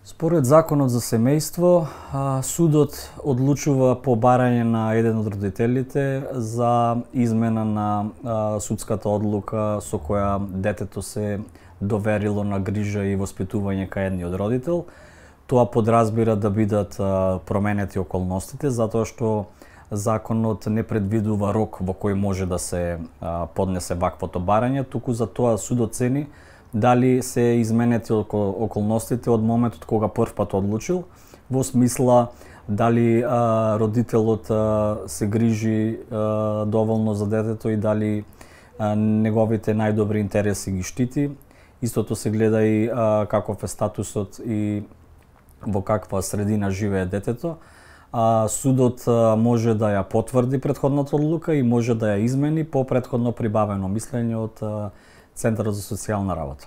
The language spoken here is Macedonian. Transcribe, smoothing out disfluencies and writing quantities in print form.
Според Законот за семејство, судот одлучува по барање на еден од родителите за измена на судската одлука со која детето се доверило на грижа и воспитување кај едниот родител. Тоа подразбира да бидат променети околностите, затоа што законот не предвидува рок во кој може да се поднесе ваквото барање, туку за тоа судот цени дали се изменети околностите од моментот кога првпат одлучил, во смисла дали родителот се грижи доволно за детето и дали неговите најдобри интереси ги штити. Истото се гледа и каков е статусот и во каква средина живее детето. Судот може да ја потврди претходната одлука и може да ја измени по претходно прибавено мислење од Центарот за социјална работа.